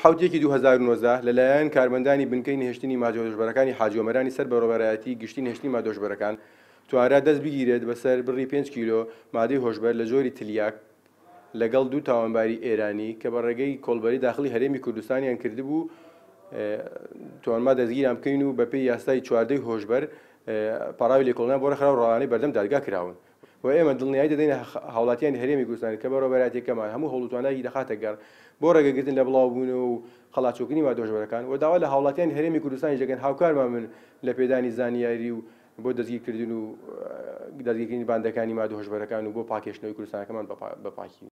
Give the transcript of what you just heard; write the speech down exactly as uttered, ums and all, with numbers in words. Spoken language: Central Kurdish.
حەوت یەکی دوو هەزار و نۆزدە لەلایەن کارمەندانی بنکەی نەهێشتنی مادە هۆشبەرەکانی حاجی ئۆمەرانی سەر بەڕێوەبەرایەتی گشتی نەهێشتنی مادە هۆشبەرەکان توانرا دەست بگیرێت بەسەر بڕی پێنج کیلۆ مادەی هۆشبەر لە جۆری تلیاک لەگەڵ دوو تاوانباری ئێرانی کە بە ڕێگەی کۆڵبەری داخلی هەرێمی کوردستانیان کردبوو توانما دەستگیران بکەین و بەپێی یاسای چواردەی هۆشبەر پەڕاوی لێکۆڵینەوە بۆ ڕێکخراو ڕەوانەی بەردەم دادگا کراون و ئێمە دڵنیایی دەدەینە هاوڵاتیانی هەرێمی کوردستان کە بەڕێوەبەرایەتیەکەمان هەموو هەوڵ و توانایەکی دەخاتە گەڕ بۆ ڕێگەگرتن لە بڵاوبوونەوە و قەڵاچۆکردنی مادە هۆشبەرەکان و داوا لە هاوڵاتیانی هەرێمی کوردستانیش دەکەن هاوکارمان بن لە پێدانی زانیاری و بۆ دەستگیرکردن و دەستگیرکردنی باندەکانی مادە هۆشبەرەکان و بۆ پاکێشتنەوەی کوردستانەکەمان بە پاکی.